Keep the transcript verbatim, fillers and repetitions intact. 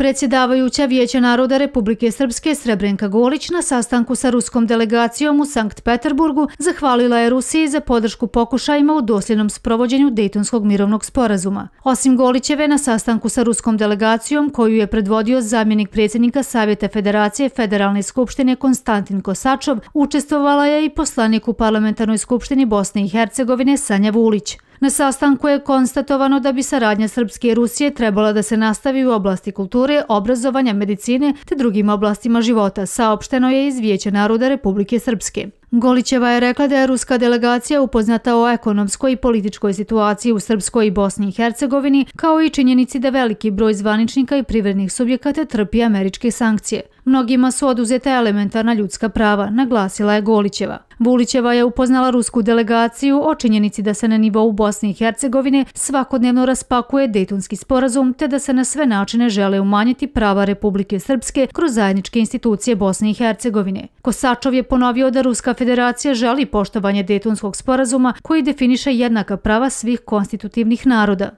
Predsjedavajuća Vijeća naroda Republike Srpske Srebrenka Golić na sastanku sa ruskom delegacijom u Sankt Peterburgu zahvalila je Rusiji za podršku pokušajima u dosljednom sprovođenju Dejtonskog mirovnog sporazuma. Osim Golićeve, na sastanku sa ruskom delegacijom, koju je predvodio zamjenik predsjednika Savjeta Federacije Federalne skupštine Konstantin Kosačov, učestvovala je i poslanik u Parlamentarnoj skupštini Bosne i Hercegovine Sanja Vulić. Na sastanku je konstatovano da bi saradnja Srpske i Rusije trebala da se nastavi u oblasti kulture, obrazovanja, medicine te drugim oblastima života, saopšteno je iz Vijeća naroda Republike Srpske. Golićeva je rekla da je ruska delegacija upoznata o ekonomskoj i političkoj situaciji u Srpskoj i Bosni i Hercegovini, kao i činjenici da veliki broj zvaničnika i privrednih subjekata trpi američke sankcije. Mnogima su oduzeta elementarna ljudska prava, naglasila je Golićeva. Vulićeva je upoznala rusku delegaciju o činjenici da se na nivou Bosne i Hercegovine svakodnevno raspakuje Dejtonski sporazum te da se na sve načine žele umanjiti prava Republike Srpske kroz zajedničke institucije Bosne i Hercegovine. Kosačov je ponovio da Ruska federacija želi poštovanje Dejtonskog sporazuma koji definiše jednaka prava svih konstitutivnih naroda.